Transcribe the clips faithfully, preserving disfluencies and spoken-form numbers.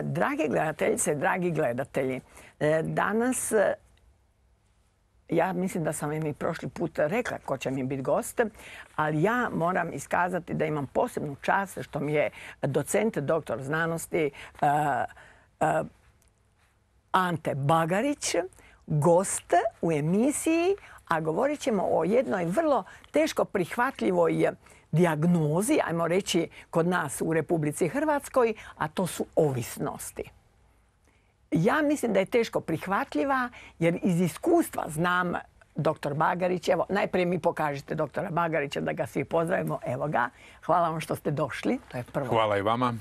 Drage gledateljice, dragi gledatelji, danas, ja mislim da sam im i prošli put rekla ko će mi biti gost, ali ja moram iskazati da imam posebnu čast što mi je docent, doktor znanosti Ante Bagarić, gost u emisiji, a govorit ćemo o jednoj vrlo teško prihvatljivoj dijagnozi, ajmo reći kod nas u Republici Hrvatskoj, a to su ovisnosti. Ja mislim da je teško prihvatljiva jer iz iskustva znam doktor Bagarić, evo najprije mi pokažite doktora Bagarića da ga svi pozdravimo, evo ga. Hvala vam što ste došli, to je prvo. Hvala i vama.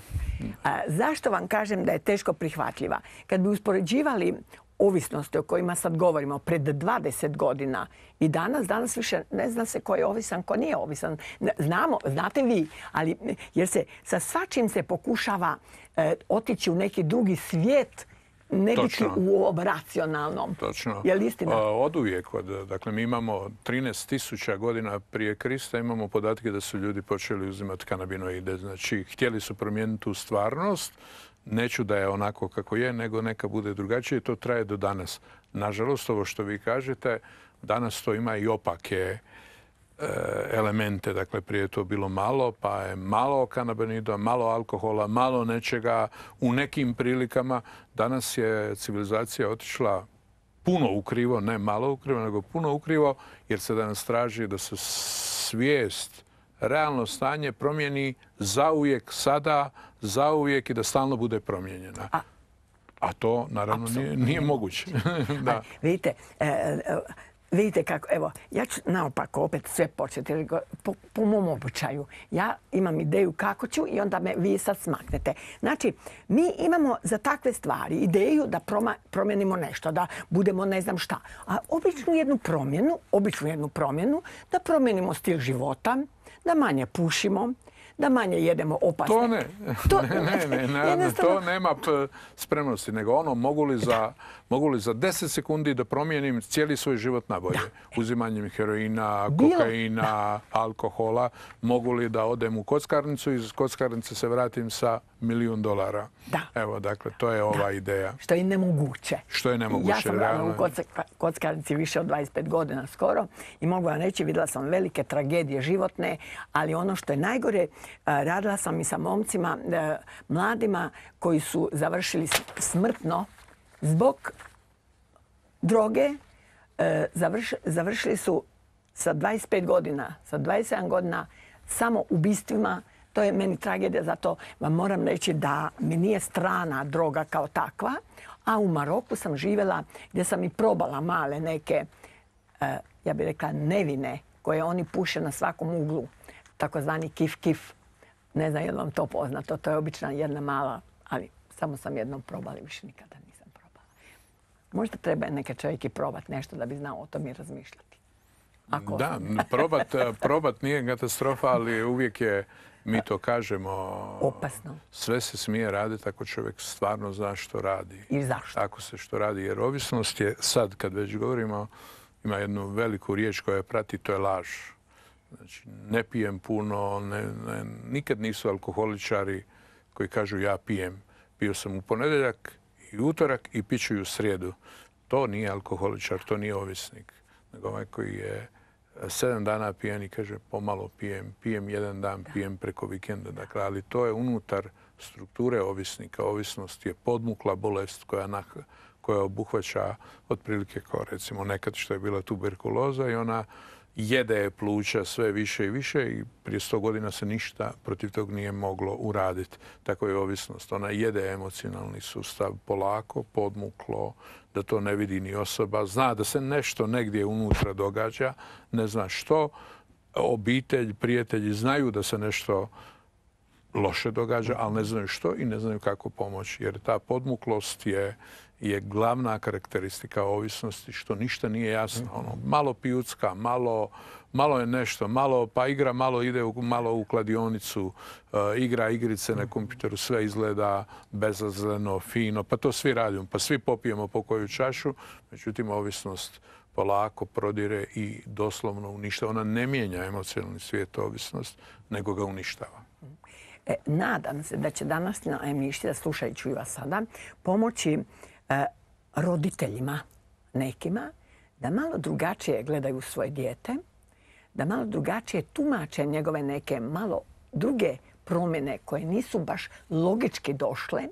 A, zašto vam kažem da je teško prihvatljiva? Kad bi uspoređivali ovisnosti o kojima sad govorimo pred dvadeset godina i danas, danas više ne zna se ko je ovisan, ko nije ovisan. Znamo, znate vi, ali jer se sa svačim se pokušava e, otići u neki drugi svijet, ne biti u ovom racionalnom. Točno. Je li istina? Od uvijek. Dakle, mi imamo trinaest tisuća godina prije Krista, imamo podatke da su ljudi počeli uzimati kanabinoide. Znači, htjeli su promijeniti tu stvarnost. Neću da je onako kako je, nego neka bude drugačije. To traje do danas. Nažalost, ovo što vi kažete, danas to ima i opake elemente. Dakle, prije je to bilo malo, pa je malo kanabinoida, malo alkohola, malo nečega u nekim prilikama. Danas je civilizacija otišla puno ukrivo, ne malo ukrivo, nego puno ukrivo, jer se danas traži da se svijest, realno stanje promijeni zauvijek, sada, zauvijek i da stalno bude promijenjena. A, A to, naravno, nije, nije moguće. Da. Vidite, e, Vidite kako, evo, ja ću naopako opet sve početi, po, po mom običaju. Ja imam ideju kako ću i onda me vi sad smaknete. Znači, mi imamo za takve stvari ideju da proma, promijenimo nešto, da budemo ne znam šta. A običnu jednu promjenu, običnu jednu promjenu, da promijenimo stil života, da manje pušimo, da manje jedemo opasne. To ne. To, ne, ne, ne, ne, jednostavno... to nema spremnosti. Nego ono, mogu li za, mogu li za deset sekundi da promijenim cijeli svoj život na bolje? Da. Uzimanjem heroina, kokaina, da. alkohola. Mogu li da odem u kockarnicu i iz kockarnice se vratim sa milijun dolara? Da. Evo, dakle, to je ova da. ideja. Što je nemoguće. Što je nemoguće. Ja sam radila u kockarnici više od dvadeset pet godina skoro i mogu vam reći, vidjela sam velike tragedije životne, ali ono što je najgore, radila sam i sa momcima, mladima koji su završili smrtno zbog droge. Završili su sa dvadeset pet godina, sa dvadeset sedam godina samo ubistvima. To je meni tragedija, zato vam moram reći da mi nije strana droga kao takva. A u Maroku sam živjela gdje sam i probala male neke, ja bih rekla, nevine koje oni puše na svakom uglu. Takozvani kif-kif. Ne znam je li vam to poznato. To je obična jedna mala, ali samo sam jednom probala i više nikada nisam probala. Možda treba neka čovjek i probati nešto da bi znao o tom i razmišljati. Ako da, probat, probat nije katastrofa, ali uvijek je, mi to kažemo, opasno. Sve se smije raditi ako čovjek stvarno zna što radi. I zašto? Ako se što radi. Jer ovisnost je, sad kad već govorimo, ima jednu veliku riječ koja je prati, to je laž. Znači, ne pijem puno, ne, ne, nikad nisu alkoholičari koji kažu ja pijem. Pio sam u ponedjeljak i utorak i piću i u srijedu. To nije alkoholičar, to nije ovisnik. Nego ovaj koji je sedam dana pijen i kaže pomalo pijem, pijem jedan dan, pijem preko vikenda. Dakle, ali to je unutar strukture ovisnika. Ovisnost je podmukla bolest koja, na, koja obuhvaća otprilike kao recimo nekad što je bila tuberkuloza i ona jede pluća sve više i više i prije sto godina se ništa protiv tog nije moglo uraditi. Tako je ovisnost. Ona jede emocionalni sustav polako, podmuklo, da to ne vidi ni osoba. Zna da se nešto negdje unutra događa, ne zna što. Obitelj, prijatelji znaju da se nešto loše događa, ali ne znaju što i ne znaju kako pomoći. Jer ta podmuklost je je glavna karakteristika ovisnosti, što ništa nije jasno. Ono, malo pijucka, malo, malo je nešto, malo, pa igra malo ide u, malo u kladionicu, uh, igra igrice na kompjuteru, sve izgleda bezazleno, fino, pa to svi radimo, pa svi popijemo po koju čašu, međutim ovisnost polako prodire i doslovno uništava. Ona ne mijenja emocionalni svijet, ovisnost, nego ga uništava. E, nadam se da će današnja emisija, slušajući vas sada, pomoći e, roditeljima nekima da malo drugačije gledaju svoje dijete, da malo drugačije tumače njegove neke malo druge promjene koje nisu baš logički došle,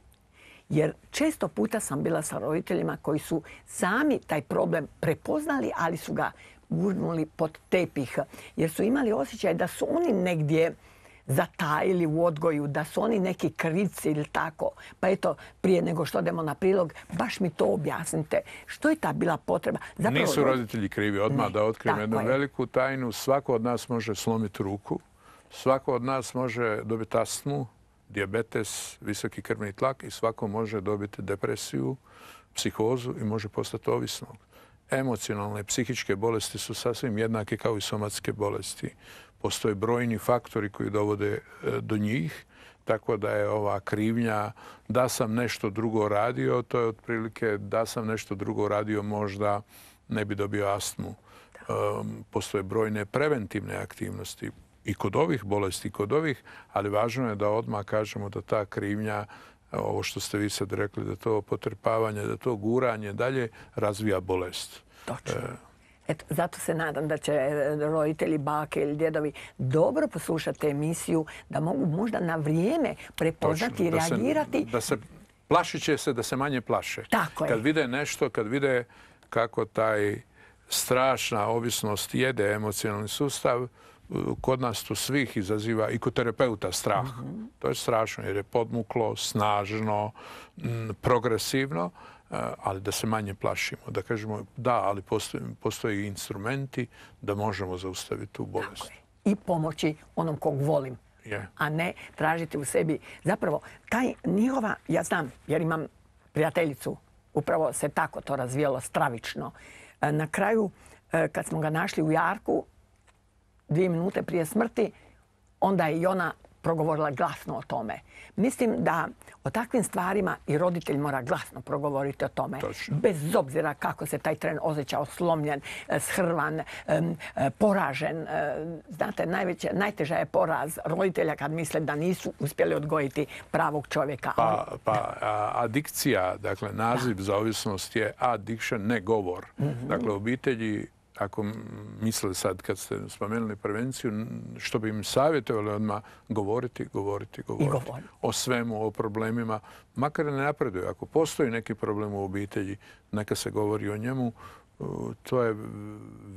jer često puta sam bila sa roditeljima koji su sami taj problem prepoznali, ali su ga gurnuli pod tepih, jer su imali osjećaj da su oni negdje zatajili u odgoju, da su oni neki krivci ili tako. Pa eto, prije nego što odemo na prilog, baš mi to objasnite. Što je ta bila potreba? Zapravo, nisu roditelji krivi. Odmah ne, da otkrijem jednu je. veliku tajnu. Svako od nas može slomiti ruku. Svako od nas može dobiti astmu, dijabetes, visoki krvni tlak i svako može dobiti depresiju, psihozu i može postati ovisnog. Emocionalne, psihičke bolesti su sasvim jednake kao i somatske bolesti. Postoje brojni faktori koji dovode do njih, tako da je ova krivnja da sam nešto drugo radio, to je otprilike da sam nešto drugo radio možda ne bi dobio astmu. Um, postoje brojne preventivne aktivnosti i kod ovih bolesti, i kod ovih, ali važno je da odmah kažemo da ta krivnja, ovo što ste vi sad rekli, da to potrpavanje, da to guranje dalje razvija bolest. Točno. E, Eto, zato se nadam da će roditelji, bake ili djedovi dobro poslušati emisiju, da mogu možda na vrijeme prepoznati i reagirati. Da se, plašit će se da se manje plaše. Tako je. Kad vide nešto, kad vide kako taj strašna ovisnost jede emocionalni sustav, kod nas to svih izaziva i kod terapeuta strah. Mm-hmm. To je strašno jer je podmuklo, snažno, m, progresivno, ali da se manje plašimo. Da kažemo da, ali postoje, postoje instrumenti da možemo zaustaviti tu bolest. I pomoći onom kog volim. Yeah. A ne tražiti u sebi. Zapravo, taj njihova, ja znam, jer imam prijateljicu, upravo se tako to razvijalo stravično. Na kraju, kad smo ga našli u jarku, dvije minute prije smrti, onda je i ona progovorila glasno o tome. Mislim da o takvim stvarima i roditelj mora glasno progovoriti o tome. Točno. Bez obzira kako se taj tren osjećao slomljen, shrvan, poražen. Znate, najveće, najteža je poraz roditelja kad misle da nisu uspjeli odgojiti pravog čovjeka. Pa, pa adikcija, dakle naziv da. za ovisnost je addiction, ne govor. Mm-hmm. Dakle, obitelji, ako misle sad kad ste spomenuli prevenciju, što bi im savjetovali odmah govoriti, govoriti, govoriti. Govori. O svemu, o problemima. Makar ne napreduju. Ako postoji neki problem u obitelji, neka se govori o njemu. To je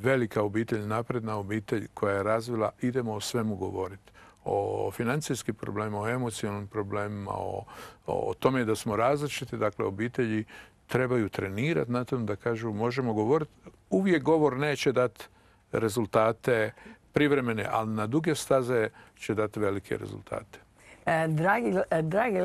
velika obitelj, napredna obitelj koja je razvila. Idemo o svemu govoriti. O financijskim problemima, o emocionalnim problemima, o, o tome da smo različiti. Dakle, obitelji trebaju trenirati na tom da kažu možemo govoriti. Uvijek govor neće dati rezultate privremene, ali na duge staze će dati velike rezultate. Dragi, dragi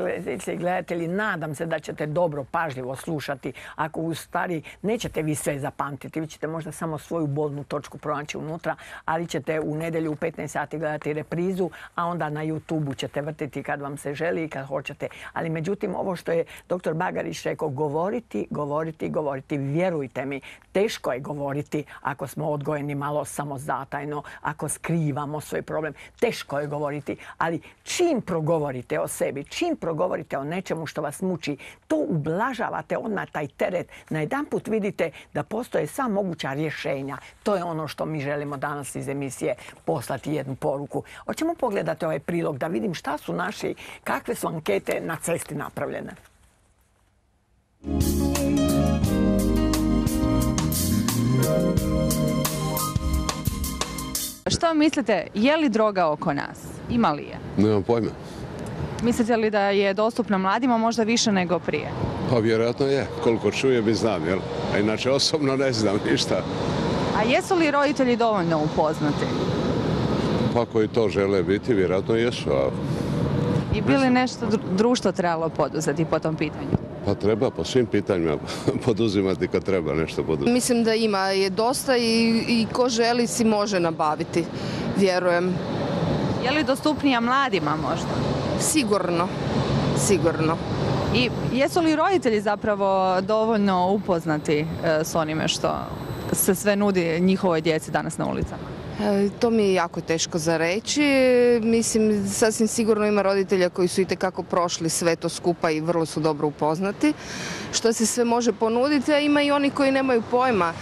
gledatelji, nadam se da ćete dobro, pažljivo slušati. Ako u stvari nećete vi sve zapamtiti, vi ćete možda samo svoju bolnu točku pronaći unutra, ali ćete u nedjelju u petnaest sati gledati reprizu, a onda na YouTube-u ćete vrtiti kad vam se želi i kad hoćete. Ali međutim, ovo što je doktor Bagarić rekao, govoriti, govoriti, govoriti. Vjerujte mi, teško je govoriti ako smo odgojeni malo samozatajno, ako skrivamo svoj problem. Teško je govoriti, ali čim progovorite govorite o sebi, čim progovorite o nečemu što vas muči, to ublažavate odmah taj teret. Na jedan put vidite da postoje sva moguća rješenja. To je ono što mi želimo danas iz emisije poslati jednu poruku. Hoćemo pogledati ovaj prilog da vidim šta su naši, kakve su ankete na cesti napravljene. Što mislite, je li droga oko nas? Ima li je? Nemam pojma. Mislite li da je dostupna mladima možda više nego prije? Pa vjerojatno je. Koliko čujem i znam, jel? A inače osobno ne znam ništa. A jesu li roditelji dovoljno upoznati? Pa koji to žele biti, vjerojatno jesu. A... I bi li nešto društvo trebalo poduzeti po tom pitanju? Pa treba po svim pitanjima poduzimati kad treba nešto poduzeti. Mislim da ima je dosta i, i ko želi si može nabaviti, vjerujem. Je li dostupnija mladima možda? Sigurno, sigurno. I jesu li roditelji zapravo dovoljno upoznati s onime što se sve nudi njihovoj djeci danas na ulicama? E, to mi je jako teško za reći. Mislim, sasvim sigurno ima roditelja koji su itekako prošli sve to skupa i vrlo su dobro upoznati što se sve može ponuditi, a ima i oni koji nemaju pojma.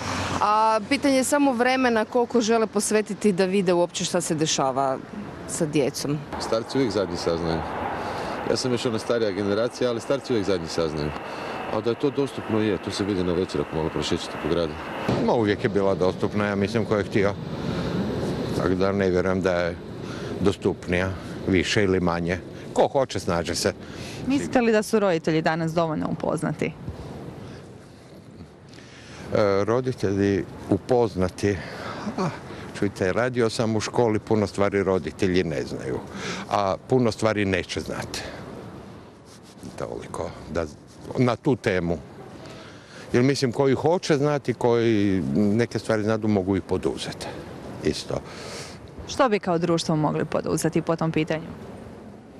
A pitanje je samo vremena koliko žele posvetiti da vide uopće šta se dešava sa djecom. Starci uvijek zadnji saznaju. Ja sam još ona starija generacija, ali starci uvijek zadnji saznaju. A da je to dostupno je, to se vidi na večer ako malo prošećete po gradu. No, uvijek je bila dostupna, ja mislim ko je htio. Tako da ne vjerujem da je dostupnija, više ili manje. Ko hoće, snađe se. Mislite li da su roditelji danas dovoljno upoznati? E, roditelji upoznati, a, čujte, radio sam u školi, puno stvari roditelji ne znaju, a puno stvari neće znati. Toliko, da, na tu temu. Jer mislim, koji hoće znati, koji neke stvari znadu, mogu i poduzeti. Isto. Što bi kao društvo mogli poduzeti po tom pitanju?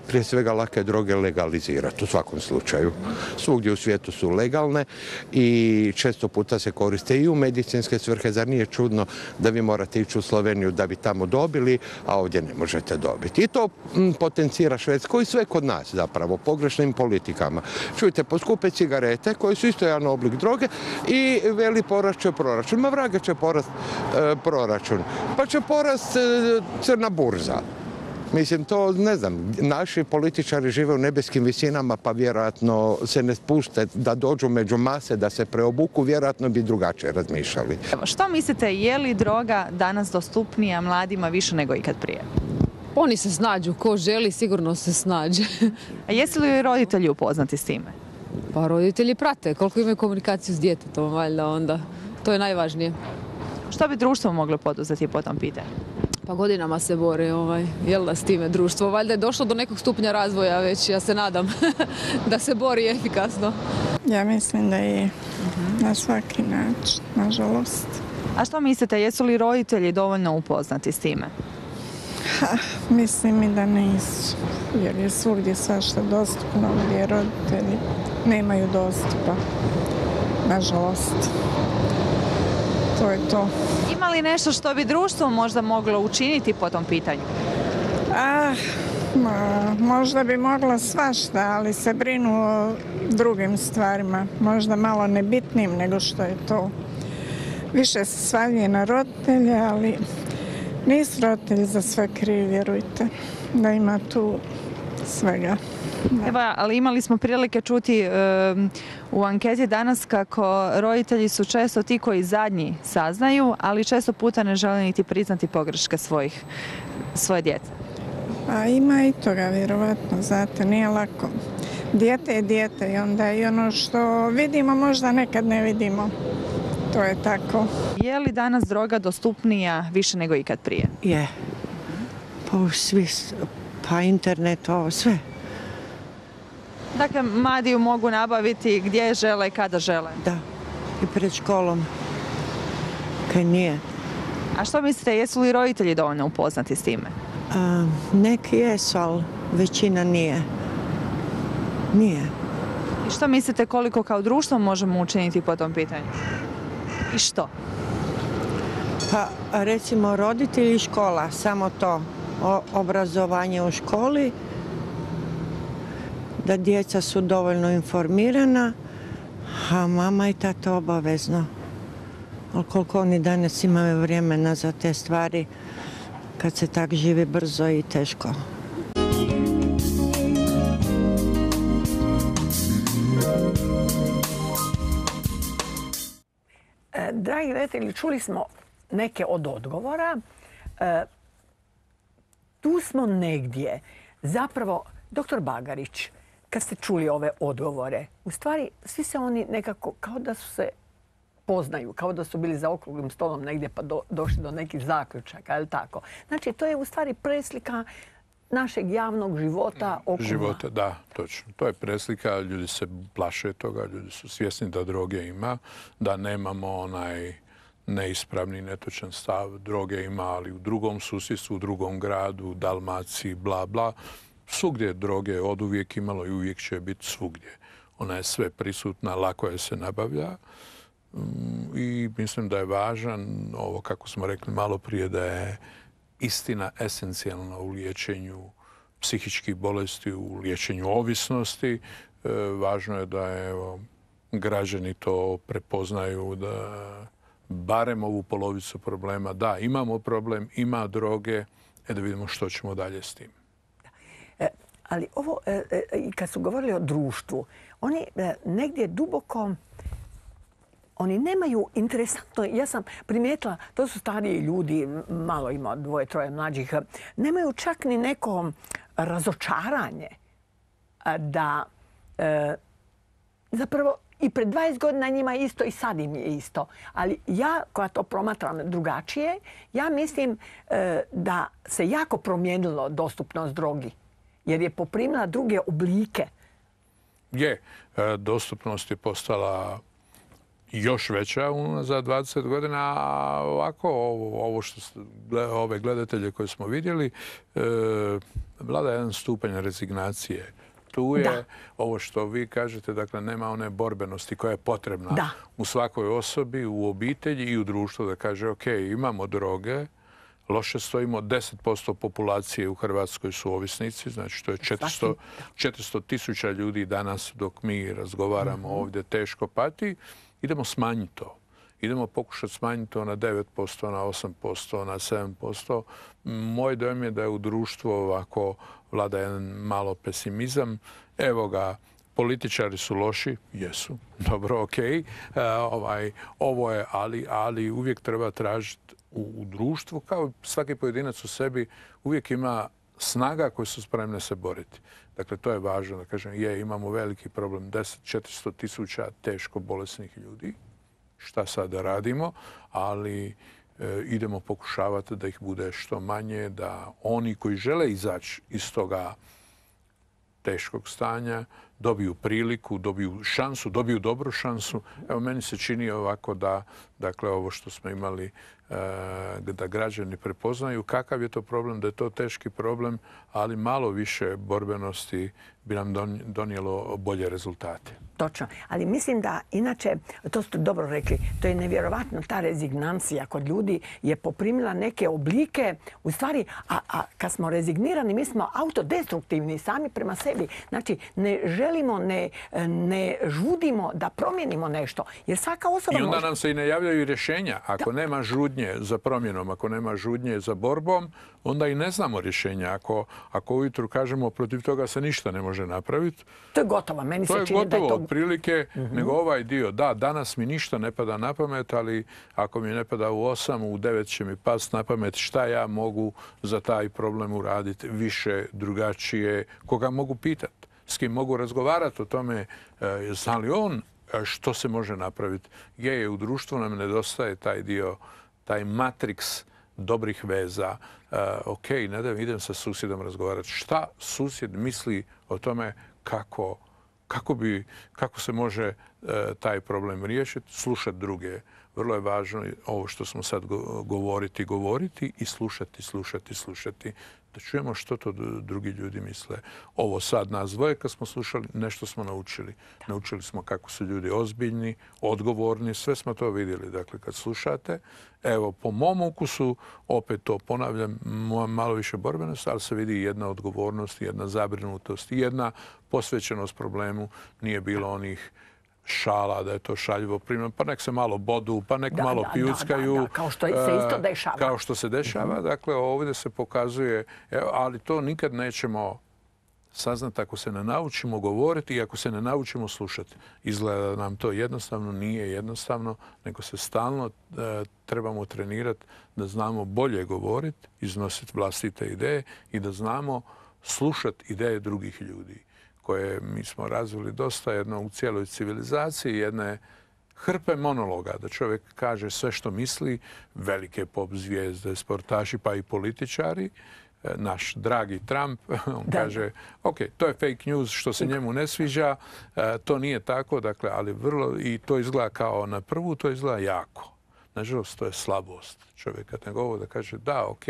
Prije svega lake droge legalizirati u svakom slučaju. Svugdje u svijetu su legalne i često puta se koriste i u medicinske svrhe. Zar nije čudno da vi morate ići u Sloveniju da bi tamo dobili, a ovdje ne možete dobiti. I to m, potencira Švedsko i sve kod nas zapravo, pogrešnim politikama. Čujte, poskupe cigarete koji su isto jedan oblik droge i veli porast će proračun. Ma vraga će porast e, proračun. Pa će porast e, crna burza. Mislim, to ne znam, naši političari žive u nebeskim visinama pa vjerojatno se ne spuste da dođu među mase, da se preobuku, vjerojatno bi drugačije razmišljali. Evo, što mislite, je li droga danas dostupnija mladima više nego ikad prije? Oni se snađu, ko želi sigurno se snađe. A jesu li roditelji upoznati s time? Pa roditelji prate, koliko imaju komunikaciju s djetetom, valjda onda. To je najvažnije. Što bi društvo moglo poduzeti po tom pitanju? Pa godinama se bore, ovaj, jel da, s time društvo. Valjda je došlo do nekog stupnja razvoja već, ja se nadam, da se bori efikasno. Ja mislim da je na svaki način, nažalost. A što mislite, jesu li roditelji dovoljno upoznati s time? Ha, mislim i da nisu, jer je svugdje svašta dostupno, gdje roditelji nemaju dostupa, nažalost. To je to. Ima li nešto što bi društvo možda moglo učiniti po tom pitanju? Ah, ma, možda bi moglo svašta, ali se brinu o drugim stvarima, možda malo nebitnim nego što je to. Više se svaljuje na roditelje, ali nisu roditelji za sve krivi, vjerujte, da ima tu svega. Da. Evo, ali imali smo prilike čuti e, u anketi danas kako roditelji su često ti koji zadnji saznaju, ali često puta ne žele niti priznati pogreške svojih, svoje djece. A ima i toga, vjerovatno, znate, nije lako. Dijete je dijete i onda i ono što vidimo možda nekad ne vidimo. To je tako. Je li danas droga dostupnija više nego ikad prije? Je. Pa svi, pa internet, ovo sve. Dakle, mladi ju mogu nabaviti gdje žele i kada žele. Da, i pred školom. Kaj nije. A što mislite, jesu li roditelji dovoljno upoznati s time? A, neki jesu, ali većina nije. Nije. I što mislite koliko kao društvo možemo učiniti po tom pitanju? I što? Pa recimo roditelji i škola, samo to. O, obrazovanje u školi, da djeca su dovoljno informirana, a mama i tata obavezno. Ali koliko oni danas imaju vremena za te stvari, kad se tak živi brzo i teško. E, dragi gledatelji, čuli smo neke od odgovora. E, tu smo negdje. Zapravo, doktor Bagarić, kad ste čuli ove odgovore, u stvari svi se oni nekako kao da su se poznaju, kao da su bili za okruglim stolom negdje pa do, došli do nekih zaključaka, je li tako? Znači, to je u stvari preslika našeg javnog života oko Života, da, točno. To je preslika, ljudi se plaše toga, ljudi su svjesni da droge ima, da nemamo onaj neispravni, netočan stav. Droge ima, ali u drugom susjedstvu, u drugom gradu, u Dalmaciji, bla, bla. Svugdje droge je od uvijek imalo i uvijek će biti svugdje. Ona je sve prisutna, lako je se nabavlja. I mislim da je važan, ovo kako smo rekli malo prije, da je istina esencijalna u liječenju psihičkih bolesti, u liječenju ovisnosti. Važno je da evo, građani to prepoznaju, da barem ovu polovicu problema, da, imamo problem, ima droge, e da vidimo što ćemo dalje s tim. E, ali ovo, e, e, kad su govorili o društvu, oni e, negdje duboko, oni nemaju interesantno, ja sam primijetila, to su stariji ljudi, malo ima dvoje, troje mlađih, nemaju čak ni neko razočaranje da e, zapravo i pred dvadeset godina njima je isto i sad im je isto. Ali ja, koja to promatram drugačije, ja mislim e, da se jako promijenilo dostupnost drogi. Jer je poprimila druge oblike. Je, e, dostupnost je postala još veća za dvadeset godina, a ovako ovo, ovo što ove gledatelje koje smo vidjeli, e, vlada jedan stupanj rezignacije. Tu je da. Ovo što vi kažete, dakle, nema one borbenosti koja je potrebna da. U svakoj osobi, u obitelji i u društvu da kaže, ok, imamo droge, loše stojimo, deset posto populacije u Hrvatskoj su ovisnici, znači to je četiristo tisuća ljudi danas dok mi razgovaramo mm-hmm. ovdje teško pati. Idemo smanjiti to. Idemo pokušati smanjiti to na devet posto, na osam posto, na sedam posto. Moj dojam je da je u društvu ovako vlada jedan malo pesimizam. Evo ga, političari su loši, jesu, dobro, ok. E, ovaj, ovo je, ali, ali uvijek treba tražiti u, u društvu, kao svaki pojedinac u sebi, uvijek ima snaga koje su spremne se boriti. Dakle, to je važno da kažem, je, imamo veliki problem, deset do četiristo tisuća teško bolesnih ljudi. Šta sada radimo, ali e, idemo pokušavati da ih bude što manje, da oni koji žele izaći iz toga teškog stanja dobiju priliku, dobiju šansu, dobiju dobru šansu. Evo, meni se čini ovako da, dakle, ovo što smo imali, e, da građani prepoznaju kakav je to problem, da je to teški problem, ali malo više borbenosti bi nam donijelo bolje rezultate. Točno. Ali mislim da, inače, to ste dobro rekli, to je nevjerovatno, ta rezignancija kod ljudi je poprimila neke oblike, u stvari, a, a kad smo rezignirani, mi smo autodestruktivni sami prema sebi. Znači, ne želimo, ne, ne žudimo da promijenimo nešto. Jer svaka osoba I onda može... nam se i ne javljaju rješenja. Ako da. Nema žudnje za promjenom, ako nema žudnje za borbom, onda i ne znamo rješenja. Ako, ako ujutru kažemo protiv toga se ništa ne može napraviti. To je gotovo. Meni to se je čini gotovo, da je to... otprilike, uh-huh. nego ovaj dio. Da, danas mi ništa ne pada na pamet, ali ako mi ne pada u osam, u devet će mi past na pamet šta ja mogu za taj problem uraditi više, drugačije, koga mogu pitati, s kim mogu razgovarati o tome, zna li on što se može napraviti. Je, je, u društvu nam nedostaje taj dio, taj matriks dobrih veza. Uh, ok, ne da idem sa susjedom razgovarati. Šta susjed misli o tome kako, kako, bi, kako se može uh, taj problem riješiti? Slušati druge. Vrlo je važno ovo što smo sad govoriti, govoriti i slušati, slušati, slušati. Da čujemo što to drugi ljudi misle. Ovo sad nas dvoje kad smo slušali, nešto smo naučili. Naučili smo kako su ljudi ozbiljni, odgovorni, sve smo to vidjeli. Dakle, kad slušate, evo, po mom ukusu, opet to ponavljam, malo više borbenost, ali se vidi jedna odgovornost, jedna zabrinutost i jedna posvećenost problemu. Nije bilo onih šala, da je to šaljivo primljeno, pa nek se malo bodu, pa nek da, malo da, pijuckaju. Da, da, da. Kao što se isto dešava. Kao što se dešava. Mm-hmm. Dakle, ovdje se pokazuje, ali to nikad nećemo saznati ako se ne naučimo govoriti i ako se ne naučimo slušati. Izgleda da nam to jednostavno nije jednostavno, nego se stalno e, trebamo trenirati da znamo bolje govoriti, iznositi vlastite ideje i da znamo slušati ideje drugih ljudi, koje mi smo razvili dosta jedno u cijeloj civilizaciji, jedne hrpe monologa, da čovjek kaže sve što misli, velike pop zvijezde, sportaši pa i političari. Naš dragi Trump, on da. kaže, ok, to je fake news što se njemu ne sviđa, to nije tako, dakle, ali vrlo, i to izgleda kao na prvu, to izgleda jako. Nažalost, to je slabost čovjeka. Nego ovo da kaže, da, ok,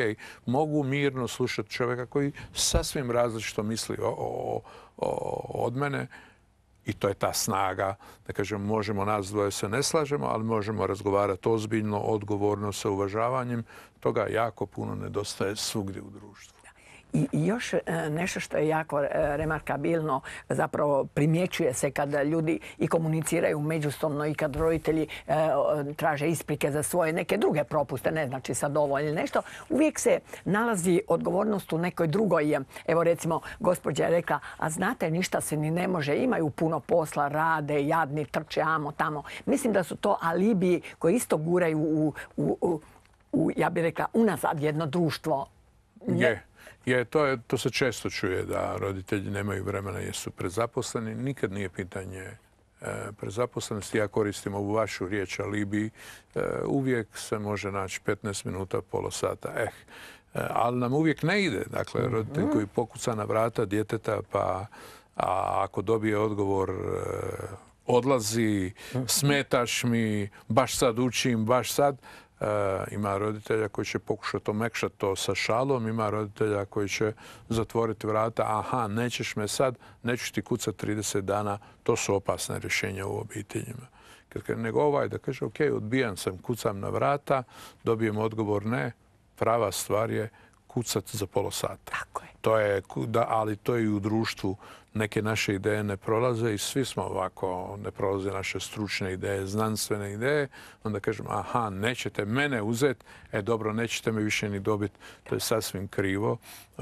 mogu mirno slušati čovjeka koji sasvim različito misli o, o, o, od mene, I to je ta snaga, da kažem, možemo nas dvoje se ne slažemo, ali možemo razgovarati ozbiljno, odgovorno, sa uvažavanjem. Toga jako puno nedostaje svugdje u društvu. I još nešto što je jako remarkabilno, zapravo primjećuje se kada ljudi i komuniciraju međusobno i kad roditelji traže isprike za svoje neke druge propuste, ne znači sad ovo ili nešto, uvijek se nalazi odgovornost u nekoj drugoj. Evo recimo, gospođa je rekla, a znate, ništa se ni ne može, imaju puno posla, rade, jadni, trče, amo, tamo. Mislim da su to alibiji koji isto guraju u, u, u, u ja bih rekla, unazad jedno društvo. Je. Je, to, je, to se često čuje da roditelji nemaju vremena jer su prezaposleni. Nikad nije pitanje e, prezaposlenosti. Ja koristim ovu vašu riječ alibi. E, uvijek se može naći petnaest minuta, pola sata. Eh, e, ali nam uvijek ne ide. Dakle, roditelj koji pokuca na vrata djeteta, pa a ako dobije odgovor e, odlazi, smetaš mi, baš sad učim, baš sad. Uh, ima roditelja koji će pokušati omekšati to sa šalom, ima roditelja koji će zatvoriti vrata, aha, nećeš me sad, neću ti kucati trideset dana, to su opasne rješenja u obiteljima. Kad, kad nego ovaj da kaže, ok, odbijan sam, kucam na vrata, dobijem odgovor ne, prava stvar je kucati za pola sata. Tako je. To je, da, ali to i u društvu neke naše ideje ne prolaze i svi smo ovako, ne prolaze naše stručne ideje, znanstvene ideje. Onda kažem, aha, nećete mene uzeti, e dobro, nećete me više ni dobiti. To je sasvim krivo.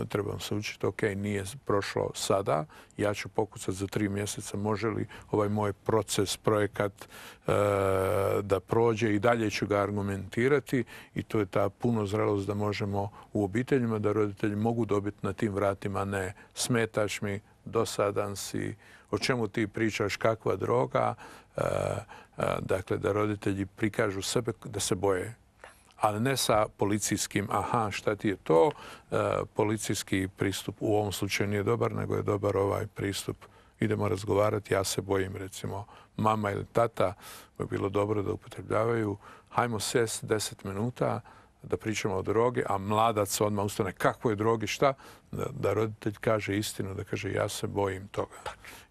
Trebam se učiti, ok, nije prošlo sada, ja ću pokucati za tri mjeseca, može li ovaj moj proces, projekat e, da prođe i dalje ću ga argumentirati i to je ta puno zrelost da možemo u obiteljima, da roditelji mogu dobiti na tim vratima, ne smetaš mi, dosadan si, o čemu ti pričaš, kakva droga, e, e, dakle da roditelji prikažu sebe da se boje. Ali ne sa policijskim, aha, šta ti je to, e, policijski pristup u ovom slučaju nije dobar, nego je dobar ovaj pristup. Idemo razgovarati, ja se bojim, recimo, mama ili tata, bi bilo dobro da upotrebljavaju, hajmo sjest deset minuta, da pričamo o drogi, a mladac odmah ustane kakvo je drogi, šta? Da, da roditelj kaže istinu, da kaže ja se bojim toga.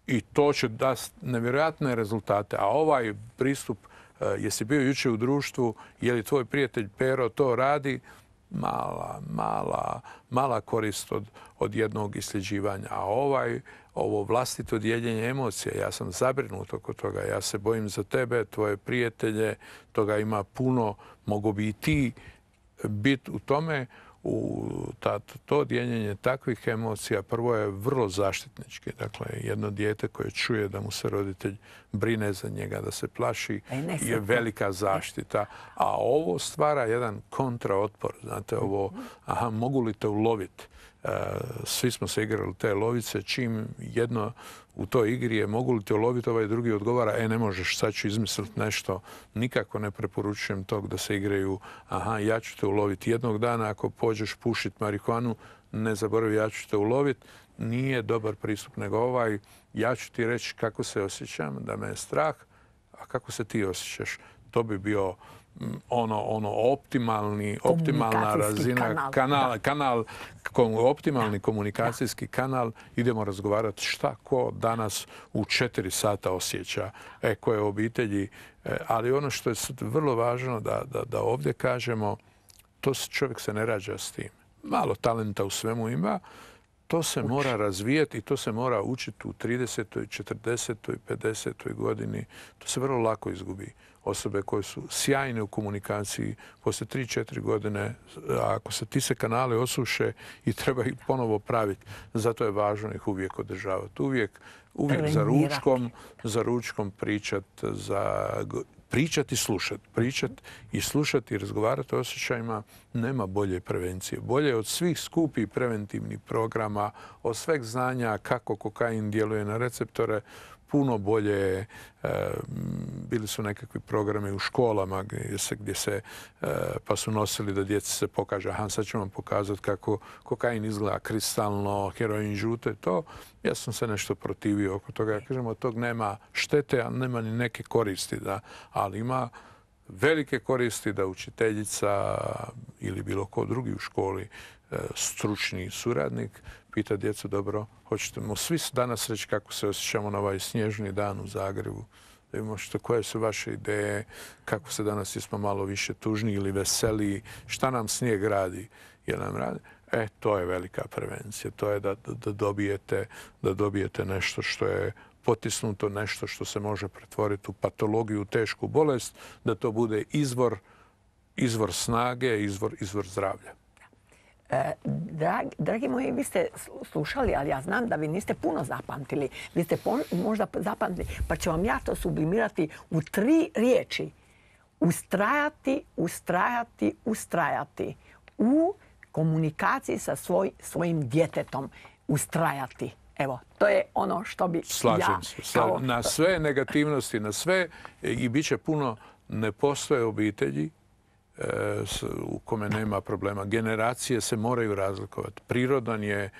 I to će dati nevjerojatne rezultate. A ovaj pristup, uh, jesi bio jučer u društvu, je li tvoj prijatelj Pero to radi, mala, mala, mala korist od, od jednog isljeđivanja. A ovaj, ovo vlastito dijeljenje emocija, ja sam zabrinut oko toga, ja se bojim za tebe, tvoje prijatelje, toga ima puno, mogu bi i ti biti u tome, u ta, to dijeljenje takvih emocija prvo je vrlo zaštitnički. Dakle, jedno dijete koje čuje da mu se roditelj brine za njega, da se plaši, je velika zaštita. A ovo stvara jedan kontraotpor. Znate, ovo, aha, mogu li te uloviti? Svi smo se igrali te lovice, čim jedno u toj igri je mogu li te uloviti, ovaj drugi odgovara, e ne možeš, sad ću izmisliti nešto. Nikako ne preporučujem tog da se igraju, aha, ja ću te uloviti jednog dana, ako pođeš pušiti marihuanu, ne zaboravi, ja ću te uloviti. Nije dobar pristup, nego ovaj, ja ću ti reći kako se osjećam, da me je strah, a kako se ti osjećaš. To bi bio ono, ono optimalni, optimalna razina, kanal, kanal, kanal kom, optimalni komunikacijski kanal. Idemo razgovarati šta ko danas u četiri sata osjeća, e, koje obitelji. E, ali ono što je vrlo važno da, da, da ovdje kažemo, to čovjek se ne rađa s tim. Malo talenta u svemu ima, to se Uči. mora razvijati i to se mora učiti u tridesetoj, četrdesetoj, pedesetoj godini. To se vrlo lako izgubi. Osobe koje su sjajne u komunikaciji, poslije tri četiri godine, ako se ti se kanale osuše i treba ih ponovo praviti, zato je važno ih uvijek održavati. Uvijek, uvijek za ručkom, za ručkom pričat, za pričati i slušati. Pričati i slušati i razgovarati o osjećajima nema bolje prevencije. Bolje od svih skupih preventivnih programa, od sveg znanja kako kokain djeluje na receptore, puno bolje. E, bili su nekakvi programi u školama gdje se, gdje se e, pa su nosili da djeci se pokaže, aha, sad ću vam pokazati kako kokain izgleda kristalno, heroin žute, to. Ja sam se nešto protivio oko toga. Ja kažem, od tog nema štete, a nema ni neke koristi, da, ali ima velike koristi da učiteljica ili bilo ko drugi u školi, stručni suradnik, pita djecu, dobro, hoćete mu svi danas reći kako se osjećamo na ovaj snježni dan u Zagrebu, da vidimo što, koje su vaše ideje, kako se danas jesmo malo više tužni ili veseliji, šta nam snijeg radi, jer nam radi. E, to je velika prevencija. To je da, da, dobijete, da dobijete nešto što je potisnuto, nešto što se može pretvoriti u patologiju, u tešku bolest, da to bude izvor, izvor snage, izvor, izvor zdravlja. E, dragi, dragi moji, vi ste slušali, ali ja znam da vi niste puno zapamtili. Vi ste pon, možda zapamtili, pa ću vam ja to sublimirati u tri riječi. Ustrajati, ustrajati, ustrajati. U komunikaciji sa svoj, svojim djetetom. Ustrajati. Evo, to je ono što bi Slažem ja... se. Kao... Na sve negativnosti, na sve, i bit će puno, ne postoje obitelji u kome nema problema. Generacije se moraju razlikovati. Prirodan je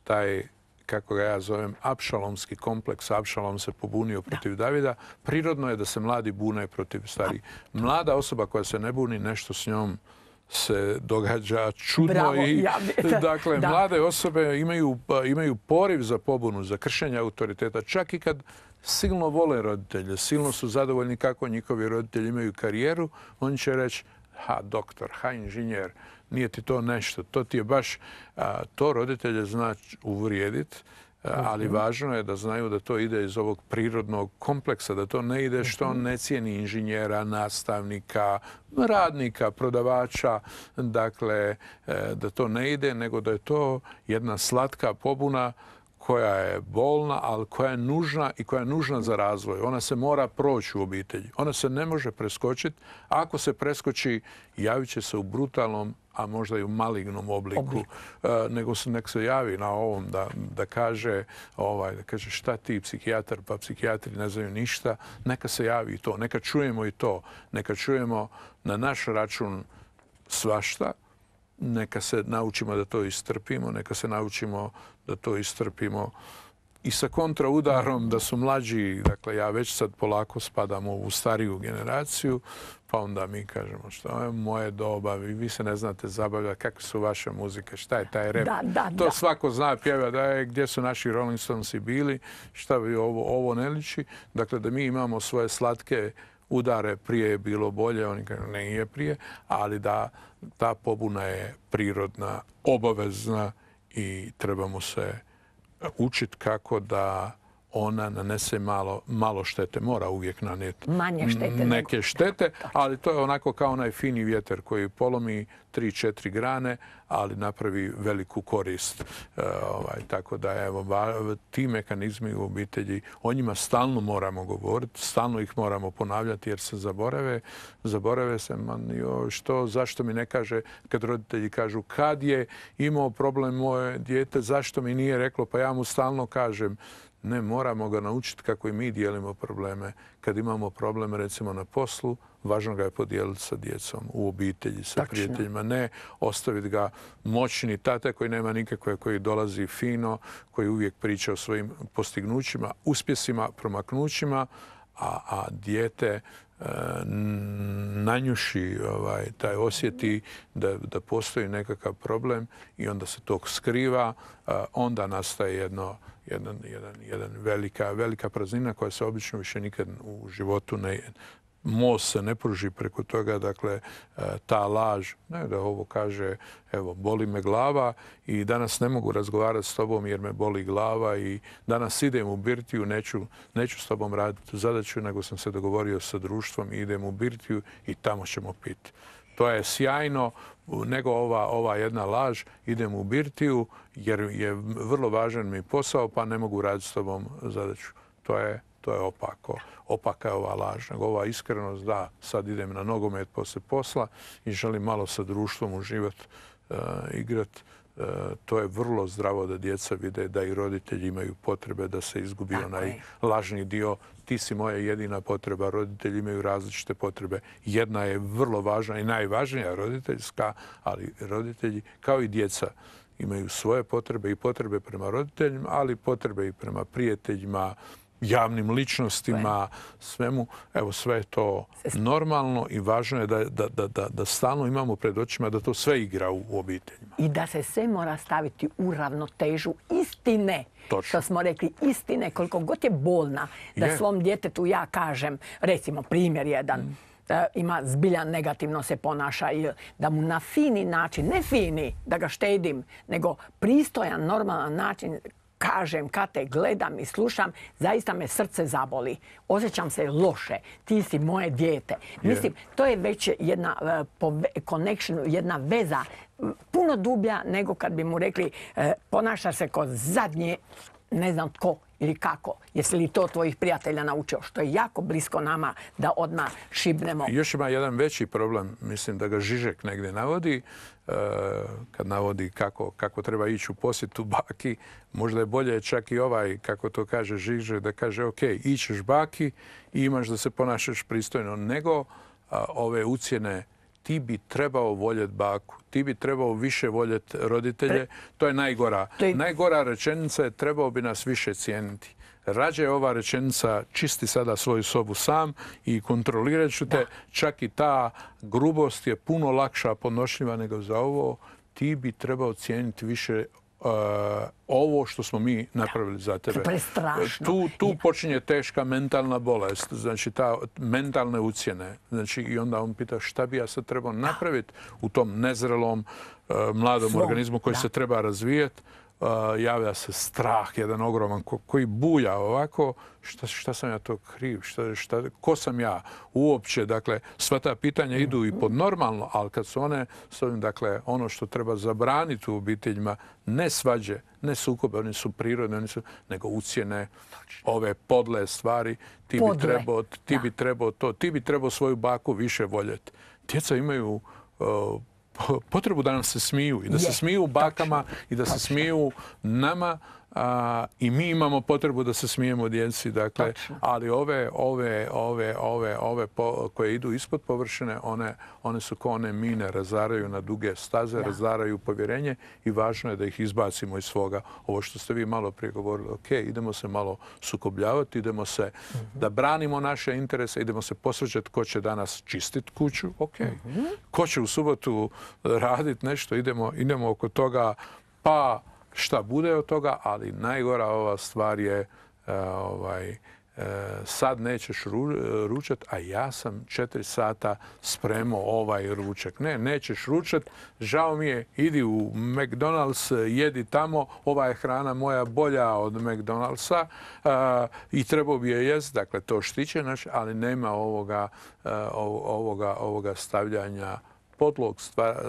taj, kako ga ja zovem, apšalomski kompleks. Apšalom se pobunio protiv da. Davida. Prirodno je da se mladi bune protiv starijih. Mlada osoba koja se ne buni, nešto s njom se događa čudno. Bravo, i ja bi... dakle, da. Mlade osobe imaju, imaju poriv za pobunu, za kršenje autoriteta. Čak i kad silno vole roditelje, silno su zadovoljni kako njihovi roditelji imaju karijeru, oni će reći, ha, doktor, ha, inženjer, nije ti to nešto. To ti je baš, a, to roditelje zna uvrijediti, ali važno je da znaju da to ide iz ovog prirodnog kompleksa, da to ne ide što on ne cijeni inženjera, nastavnika, radnika, prodavača, dakle, da to ne ide, nego da je to jedna slatka pobuna koja je bolna, ali koja je nužna i koja je nužna za razvoj. Ona se mora proći u obitelji. Ona se ne može preskočiti. Ako se preskoči, javit će se u brutalnom, a možda i u malignom obliku. Oblik. Uh, nego se nek se javi na ovom da, da, kaže, ovaj, da kaže šta ti psihijatar, pa psihijatri ne znaju ništa. Neka se javi i to. Neka čujemo i to. Neka čujemo na naš račun svašta. Neka se naučimo da to istrpimo, neka se naučimo da to istrpimo i sa kontraudarom da su mlađi, dakle ja već sad polako spadam u stariju generaciju, pa onda mi kažemo što je moje doba, vi, vi se ne znate zabavljati, kakve su vaše muzike, šta je taj rap. Da, da, to da. Svako zna pjeva da je gdje su naši Rolling Stonesi bili, šta bi ovo, ovo ne liči. Dakle, da mi imamo svoje slatke udare, prije je bilo bolje, oni kažu ne je prije, ali da ta pobuna je prirodna, obavezna i trebamo se učiti kako da ona nanese malo, malo štete. Mora uvijek nanijeti manje štete neke nego... štete, ali to je onako kao onaj fini vjetar koji polomi tri četiri grane, ali napravi veliku korist. E, ovaj, tako da evo, ti mehanizmi u obitelji, o njima stalno moramo govoriti, stalno ih moramo ponavljati jer se zaborave. Zaborave se, man, jo, što, zašto mi ne kaže, kad roditelji kažu kad je imao problem moje dijete, zašto mi nije reklo, pa ja mu stalno kažem. Ne, moramo ga naučiti kako i mi dijelimo probleme. Kad imamo problem, recimo, na poslu, važno ga je podijeliti sa djecom, u obitelji, sa Tačno. Prijateljima. Ne ostaviti ga moćni tate koji nema nikakve, koji dolazi fino, koji uvijek priča o svojim postignućima, uspjesima, promaknućima, a, a dijete e, nanjuši, ovaj, taj osjeti da, da postoji nekakav problem i onda se to skriva, e, onda nastaje jedno Jedan, jedan, jedan velika, velika praznina koja se obično više nikad u životu ne... Most se ne pruži preko toga, dakle, ta laž, ne da ovo kaže, evo, boli me glava i danas ne mogu razgovarati s tobom jer me boli glava i danas idem u birtiju, neću, neću s tobom raditi zadaću, nego sam se dogovorio sa društvom i idem u birtiju i tamo ćemo piti. To je sjajno, nego ova, ova jedna laž, idem u birtiju jer je vrlo važan mi posao, pa ne mogu raditi s tobom zadaću. To je, to je opako. Opaka je ova laž. Nego ova iskrenost, da, sad idem na nogomet poslije posla i želim malo sa društvom uživati, uh, igrati. Uh, to je vrlo zdravo da djeca vide da i roditelji imaju potrebe da se izgubi Tako onaj je. lažni dio. Ti si moja jedina potreba, roditelji imaju različite potrebe. Jedna je vrlo važna i najvažnija roditeljska, ali roditelji kao i djeca imaju svoje potrebe i potrebe prema roditeljima, ali potrebe i prema prijateljima, javnim ličnostima, svemu. Evo, sve je to normalno i važno je da, da, da, da, da stalno imamo pred očima da to sve igra u, u obiteljima. I da se sve mora staviti u ravnotežu istine. Točno. Što smo rekli, istine, koliko god je bolna, da Je. svom djetetu ja kažem, recimo primjer jedan, mm. ima zbilja negativno se ponaša i da mu na fini način, ne fini da ga štedim, nego pristojan, normalan način kažem, kad te gledam i slušam, zaista me srce zaboli. Osjećam se loše. Ti si moje dijete. Yeah. Mislim, to je već jedna uh, connection, jedna veza puno dublja nego kad bi mu rekli uh, ponaša se kao zadnje, ne znam tko ili kako. Jesi li to tvojih prijatelja naučio? Što je jako blisko nama da odmah šibnemo. Još ima jedan veći problem, mislim da ga Žižek negdje navodi, kad navodi kako, kako treba ići u posjetu baki. Možda je bolje čak i ovaj, kako to kaže Žižek, da kaže ok, ićeš baki i imaš da se ponašaš pristojno, nego a, ove ucjene ti bi trebao voljeti baku, ti bi trebao više voljeti roditelje. To je najgora. To je... Najgora rečenica je trebao bi nas više cijeniti. Rađe ova rečenica čisti sada svoju sobu sam i kontrolirat ću te. Da. Čak i ta grubost je puno lakša podnošljiva nego za ovo. Ti bi trebao cijeniti više Uh, ovo što smo mi napravili za tebe. Prestrašno. Tu, tu počinje teška mentalna bolest, znači ta mentalne ucjene. Znači, i onda on pita šta bi ja sad trebao napraviti u tom nezrelom uh, mladom Svom. organizmu koji da. se treba razvijeti. Uh, javlja se strah, jedan ogroman ko, koji buja ovako. Šta, šta sam ja to kriv? Šta, šta, ko sam ja uopće? Dakle, sva ta pitanja idu i pod normalno, ali kad su one, s ovim, dakle, ono što treba zabraniti u obiteljima, ne svađe, ne sukobe, oni su prirodne, oni su, nego ucjene, ove podle stvari. Ti podle. bi trebao, ti bi trebao to, ti bi trebao svoju baku više voljeti. Djeca imaju uh, potrebu da nam se smiju i da je, se smiju bakama točno, i da točno. se smiju nama a, i mi imamo potrebu da se smijemo djeci, dakle, točno. ali ove ove ove ove ove po, koje idu ispod površine, one one su kao one mine, razaraju na duge staze, ja. razaraju povjerenje i važno je da ih izbacimo iz svoga. Ovo što ste vi malo prije govorili, ok, idemo se malo sukobljavati, idemo se mm-hmm. da branimo naše interese, idemo se posvađati ko će danas čistiti kuću, ok, mm-hmm. ko će u subotu raditi nešto, idemo, idemo oko toga, pa šta bude od toga, ali najgora ova stvar je uh, ovaj, uh, sad nećeš ru, ručat, a ja sam četiri sata spremao ovaj ručak. Ne, nećeš ručat, žao mi je, idi u McDonald's, jedi tamo, ova je hrana moja bolja od McDonald'sa uh, i trebao bi je jest, dakle to štiće naš, ali nema ovoga, uh, ovoga, ovoga stavljanja podlog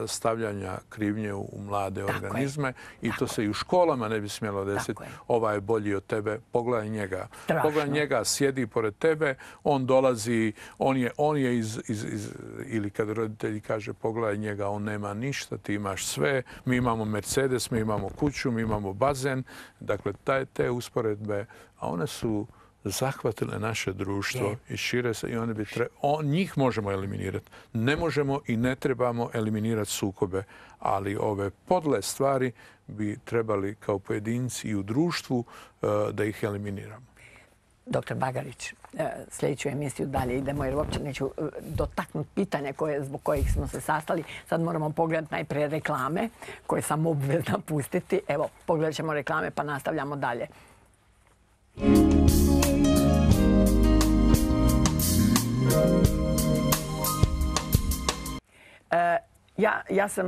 stavljanja krivnje u mlade Tako organizme je. i Tako to se i u školama ne bi smjelo desiti. Ovaj je bolji od tebe, pogledaj njega. Strašno. Pogledaj njega, sjedi pored tebe, on dolazi, on je, on je iz, iz, iz, ili kad roditelji kaže pogledaj njega, on nema ništa, ti imaš sve, mi imamo Mercedes, mi imamo kuću, mi imamo bazen. Dakle, taj, te usporedbe, a one su zahvatile naše društvo je. i šire se i one bi tre... On, njih možemo eliminirati. Ne možemo i ne trebamo eliminirati sukobe, ali ove podle stvari bi trebali kao pojedinci i u društvu uh, da ih eliminiramo. Doktor Bagarić, sljedeću emisiju dalje idemo jer uopće neću dotaknuti pitanja koje, zbog kojih smo se sastali. Sad moramo pogledati najprije reklame koje sam obvezna pustiti. Evo, pogledat ćemo reklame pa nastavljamo dalje. E, ja, ja sam,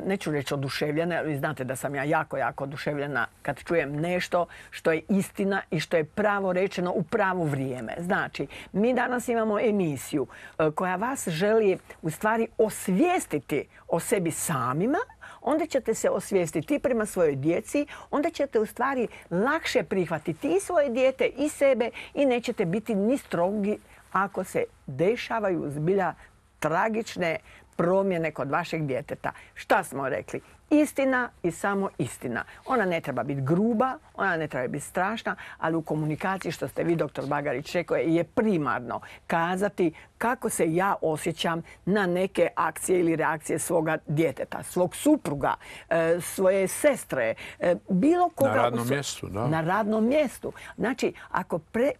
neću reći oduševljena, ali znate da sam ja jako, jako oduševljena kad čujem nešto što je istina i što je pravo rečeno u pravo vrijeme. Znači, mi danas imamo emisiju koja vas želi u stvari osvijestiti o sebi samima, onda ćete se osvijestiti prema svojoj djeci, onda ćete u stvari lakše prihvatiti i svoje dijete i sebe i nećete biti ni strogi ako se dešavaju zbilja tragične promjene kod vašeg djeteta. Šta smo rekli? Istina i samo istina. Ona ne treba biti gruba, ona ne treba biti strašna, ali u komunikaciji, što ste vi, doktor Bagarić, rekao, je primarno kazati kako se ja osjećam na neke akcije ili reakcije svoga djeteta, svog supruga, svoje sestre, bilo koga. Na radnom mjestu, da. Na radnom mjestu. Znači, ako pre...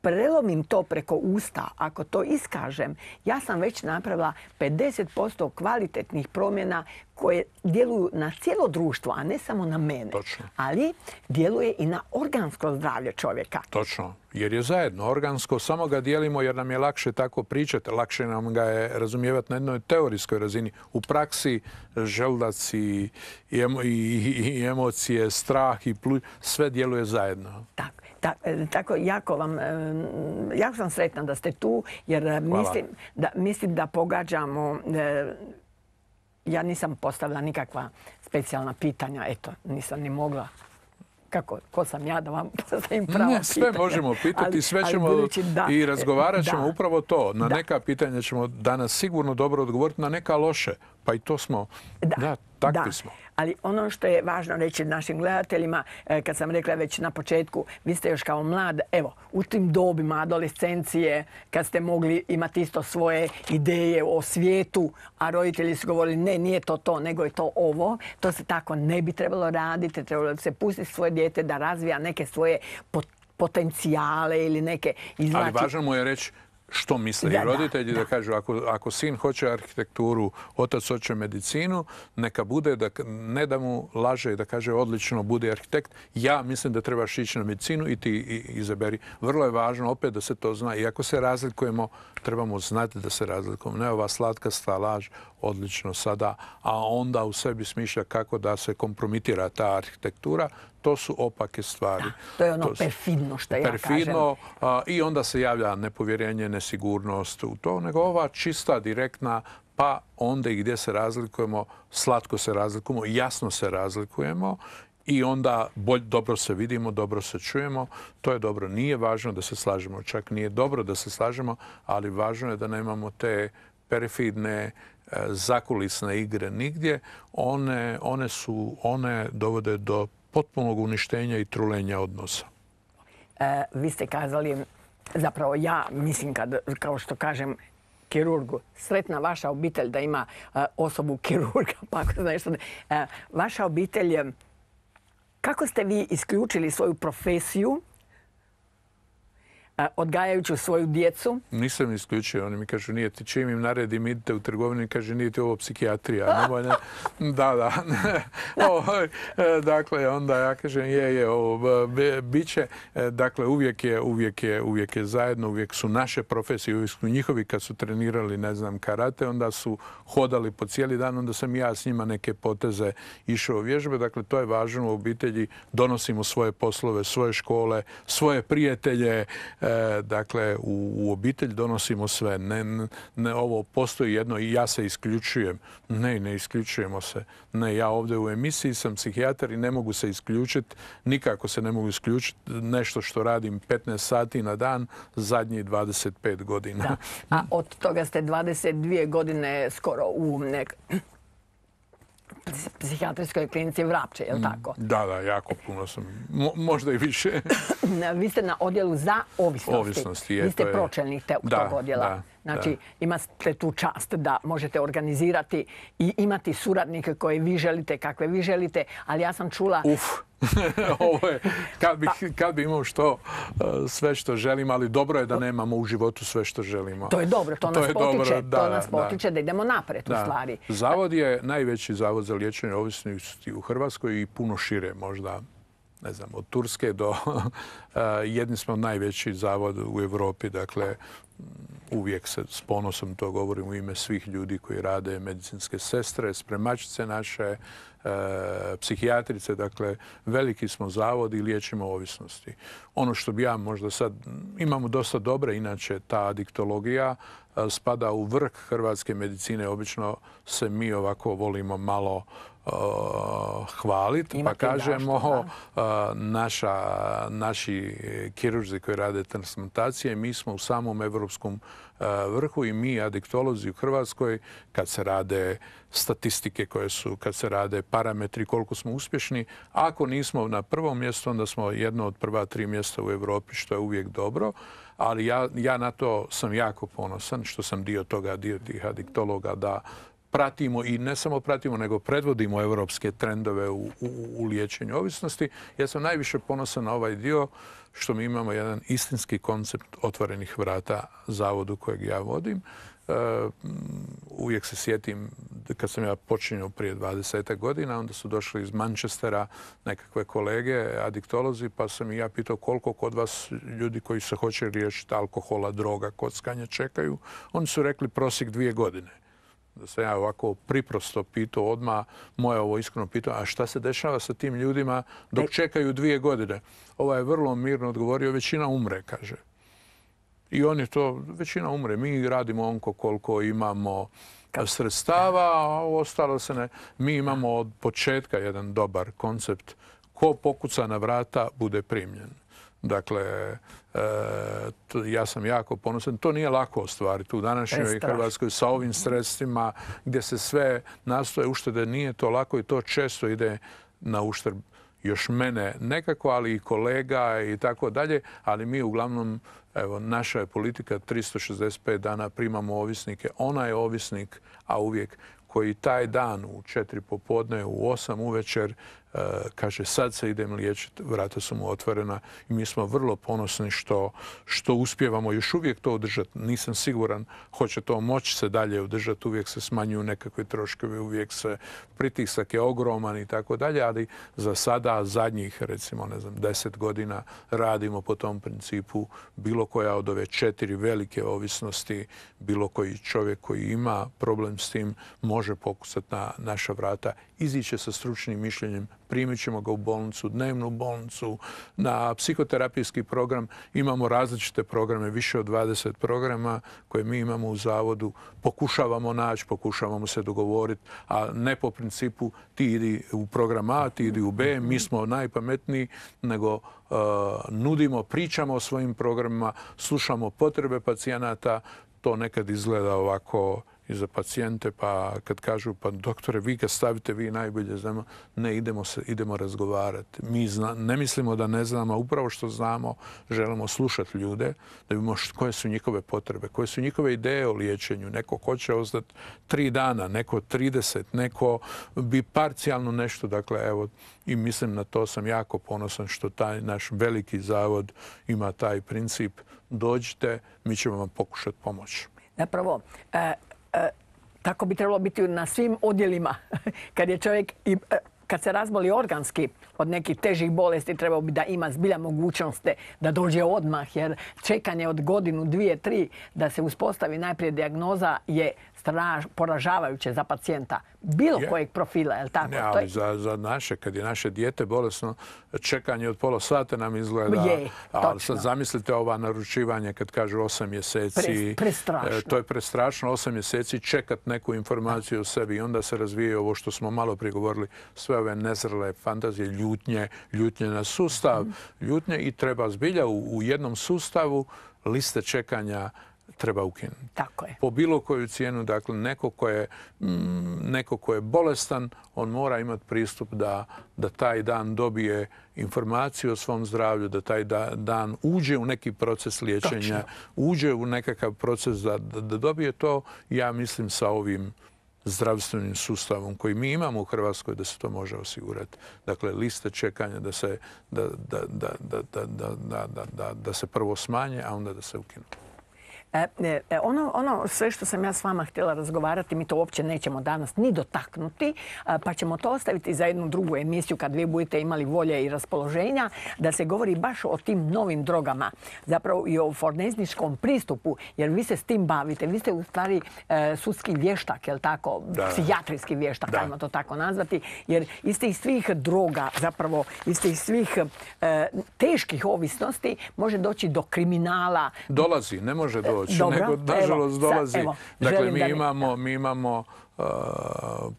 prelomim to preko usta, ako to iskažem, ja sam već napravila pedeset posto kvalitetnih promjena koje djeluju na cijelo društvo, a ne samo na mene. Točno. Ali djeluje i na organsko zdravlje čovjeka. Točno. Jer je zajedno organsko, samo ga dijelimo jer nam je lakše tako pričati, lakše nam ga je razumijevati na jednoj teorijskoj razini. U praksi želudac i, i, i, i emocije, strah i pluć, sve djeluje zajedno. Tako. Tako, jako vam, jako sam sretna da ste tu, jer mislim da, mislim da pogađamo, ja nisam postavila nikakva specijalna pitanja, eto, nisam ni mogla. Kako, ko sam ja da vam postavim pravo pitanje? Sve možemo pitati, sve ćemo i razgovarat ćemo upravo to. Na neka pitanja ćemo danas sigurno dobro odgovoriti, na neka loše. Pa i to smo, da, takvi smo. Ali ono što je važno reći našim gledateljima, kad sam rekla već na početku, vi ste još kao mlad, evo, u tim dobima adolescencije, kad ste mogli imati isto svoje ideje o svijetu, a roditelji su govorili ne, nije to to, nego je to ovo, to se tako ne bi trebalo raditi, trebalo se pustiti svoje dijete da razvija neke svoje potencijale ili neke izvlači. Ali važno mu je reći što misle i roditelji, da kažu ako sin hoće arhitekturu, otac hoće medicinu, neka bude, ne da mu laže i da kaže odlično bude arhitekt, ja mislim da trebaš ići na medicinu i ti izaberi. Vrlo je važno opet da se to zna. I ako se razlikujemo, trebamo znati da se razlikujemo. Ne ova slatkasta laž, odlično sada, a onda u sebi smišlja kako da se kompromitira ta arhitektura. To su opake stvari. Da, to je ono perfidno što ja perfidno, kažem. I onda se javlja nepovjerenje, nesigurnost u to, nego ova čista, direktna, pa onda i gdje se razlikujemo, slatko se razlikujemo, jasno se razlikujemo i onda bolj, dobro se vidimo, dobro se čujemo. To je dobro. Nije važno da se slažemo, čak nije dobro da se slažemo, ali važno je da nemamo te perfidne, zakulisne igre nigdje. One, one, su, one dovode do potpunog uništenja i trulenja odnosa. E, vi ste kazali, zapravo ja mislim, kad, kao što kažem kirurgu, sretna vaša obitelj da ima uh, osobu kirurga, pa ako znaš što ne. Uh, vaša obitelj, kako ste vi isključili svoju profesiju odgajajući svoju djecu? Nisam isključio. Oni mi kažu, nije ti čim im naredim, idite u trgovinu i kaže, nije ti ovo psihijatrija. Nemoj, ne. Da, da. o, dakle, onda ja kažem, je, je, ovo, bit će. Dakle, uvijek je, uvijek je, uvijek je zajedno, uvijek su naše profesije, uvijek su njihovi kad su trenirali, ne znam, karate, onda su hodali po cijeli dan, onda sam ja s njima neke poteze išao u vježbe. Dakle, to je važno u obitelji. Donosimo svoje poslove, svoje škole, svoje prijatelje. E, dakle, u, u obitelj donosimo sve. Ne, ne, ovo postoji jedno i ja se isključujem. Ne, ne isključujemo se. Ne, ja ovdje u emisiji sam psihijatar i ne mogu se isključiti. Nikako se ne mogu isključiti. Nešto što radim petnaest sati na dan zadnjih dvadeset pet godina. Da. A od toga ste dvadeset dvije godine skoro u nek... psihijatrijskoj klinici Vrapče, je li tako? Da, da, jako puno sam. Mo, možda i više. Vi ste na odjelu za ovisnosti. Ovisnosti, je. Vi ste pročelnik te, da, tog odjela. Da, znači, da. imate tu čast da možete organizirati i imati suradnike koje vi želite, kakve vi želite, ali ja sam čula... Uf! Ovo je, kad bi, kad bi imao što, sve što želim, ali dobro je da nemamo u životu sve što želimo. To je dobro, to, to nas potiče, dobro, da, to nas potiče da, da idemo naprijed da. u stvari. Zavod je najveći zavod za liječenje ovisnosti u Hrvatskoj i puno šire možda, ne znam, od Turske do jedni smo najveći zavod u Europi, dakle uvijek se s ponosom to govorim u ime svih ljudi koji rade, medicinske sestre, spremačice naše, e, psihijatrice, dakle veliki smo zavod i liječimo ovisnosti. Ono što bi ja možda sad, imamo dosta dobre, inače ta adiktologija spada u vrh hrvatske medicine. Obično se mi ovako volimo malo hvaliti, pa Imate kažemo zašto, naša, naši kirurzi koji rade transplantacije, mi smo u samom evropskom vrhu i mi adiktolozi u Hrvatskoj, kad se rade statistike koje su, kad se rade parametri koliko smo uspješni, ako nismo na prvom mjestu, onda smo jedno od prva tri mjesta u Europi, što je uvijek dobro. Ali ja, ja na to sam jako ponosan, što sam dio toga, dio tih adiktologa, da pratimo i ne samo pratimo, nego predvodimo europske trendove u, u, u liječenju ovisnosti. Ja sam najviše ponosan na ovaj dio što mi imamo jedan istinski koncept otvorenih vrata zavodu kojeg ja vodim. E, uvijek se sjetim kad sam ja počinio prije dvadeset godina, onda su došli iz Manchestera nekakve kolege, adiktolozi, pa sam i ja pitao koliko kod vas ljudi koji se hoće riješiti alkohola, droga, kockanja čekaju. Oni su rekli prosjek dvije godine. Da sam ja ovako priprosto pitao odmah, moje ovo iskreno pitao, a šta se dešava sa tim ljudima dok čekaju dvije godine? Ovaj je vrlo mirno odgovorio, većina umre, kaže. I on je to, većina umre. Mi radimo onko koliko imamo sredstava, a ostalo se ne. Mi imamo od početka jedan dobar koncept. Ko pokuca na vrata, bude primljen. Dakle, e, to, ja sam jako ponosan. To nije lako ostvariti u današnjoj Hrvatskoj sa ovim sredstvima gdje se sve nastoje uštede. Nije to lako i to često ide na uštrb još mene nekako, ali i kolega i tako dalje. Ali mi uglavnom, evo, naša je politika tristo šezdeset pet dana primamo ovisnike. Ona je ovisnik, a uvijek koji taj dan u četiri popodne, u osam uvečer, kaže sad se idem liječiti, vrata su mu otvorena i mi smo vrlo ponosni što, što uspijevamo još uvijek to održati. Nisam siguran hoće to moći se dalje održati, uvijek se smanjuju nekakve troškovi, uvijek se pritisak je ogroman i tako dalje, ali za sada zadnjih recimo ne znam deset godina radimo po tom principu. Bilo koja od ove četiri velike ovisnosti, bilo koji čovjek koji ima problem s tim može pokusati na naša vrata, iziće sa stručnim mišljenjem, primit ćemo ga u bolnicu, dnevnu bolnicu, na psihoterapijski program. Imamo različite programe, više od dvadeset programa koje mi imamo u zavodu. Pokušavamo naći, pokušavamo se dogovoriti, a ne po principu ti idi u program A, ti idi u B, mi smo najpametniji, nego uh, nudimo, pričamo o svojim programima, slušamo potrebe pacijenata. To nekad izgleda ovako i za pacijente, pa kad kažu, pa doktore, vi kad stavite, vi najbolje znamo, ne, idemo, se, idemo razgovarati. Mi zna, ne mislimo da ne znamo, a upravo što znamo, želimo slušati ljude, da vidimo koje su njihove potrebe, koje su njihove ideje o liječenju. Neko hoće ostati tri dana, neko trideset, neko bi parcijalno nešto. Dakle, evo, i mislim na to sam jako ponosan što taj naš veliki zavod ima taj princip. Dođite, mi ćemo vam pokušati pomoći. Zapravo, e, e, tako bi trebalo biti na svim odjelima. Kad je čovjek, i, e, kad se razboli organski od nekih težih bolesti, trebao bi da ima zbilja mogućnosti da dođe odmah, jer čekanje od godinu, dvije, tri da se uspostavi najprije dijagnoza je straž, poražavajuće za pacijenta bilo je. Kojeg profila, je li tako? Ne, ali je... za, za naše, kad je naše dijete bolesno, čekanje od pola sata nam izgleda. Je, ali sad zamislite ova naručivanje kad kažu osam mjeseci. Pre, prestrašno. To je prestrašno, osam mjeseci čekat neku informaciju o sebi i onda se razvije ovo što smo malo prije govorili, sve ove nezrele fantazije, ljutnje, ljutnje na sustav, mm. ljutnje i treba zbilja u, u jednom sustavu liste čekanja treba ukinuti. Tako je. Po bilo koju cijenu, dakle, neko ko je, mm, neko ko je bolestan, on mora imati pristup da, da taj dan dobije informaciju o svom zdravlju, da taj da, dan uđe u neki proces liječenja, Točno. uđe u nekakav proces da, da, da dobije to, ja mislim, sa ovim zdravstvenim sustavom koji mi imamo u Hrvatskoj da se to može osigurati. Dakle, liste čekanja da se, da, da, da, da, da, da, da, da, da se prvo smanje, a onda da se ukinu. E, e, ono, ono sve što sam ja s vama htjela razgovarati, mi to uopće nećemo danas ni dotaknuti, pa ćemo to ostaviti za jednu drugu emisiju kad vi budete imali volje i raspoloženja, da se govori baš o tim novim drogama, zapravo i o forenzničkom pristupu, jer vi se s tim bavite. Vi ste u stvari e, sudski vještak, je li tako? Da. Psihijatrijski vještak, da. Ajmo to tako nazvati, jer iz tih svih droga, zapravo iz tih svih e, teških ovisnosti može doći do kriminala. Dolazi, ne može doći. doći, Dobro, nego nažalost evo, dolazi. sad, evo, dakle, želim mi da mi- imamo, mi imamo uh,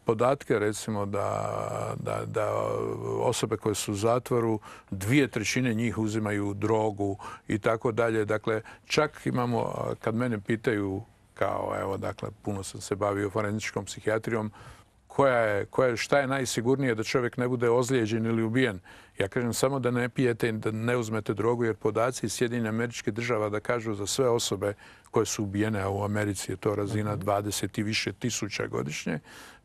podatke, recimo, da, da, da osobe koje su u zatvoru, dvije trećine njih uzimaju drogu i tako dalje. Dakle, čak imamo, uh, kad mene pitaju, kao, evo, dakle, puno sam se bavio forenzičkom psihijatrijom, koja je, koja je, šta je najsigurnije da čovjek ne bude ozlijeđen ili ubijen. Ja kažem samo da ne pijete i da ne uzmete drogu, jer podaci iz Sjedinjenih Američkih Država da kažu za sve osobe koje su ubijene, a u Americi je to razina dvadeset i više tisuća godišnje,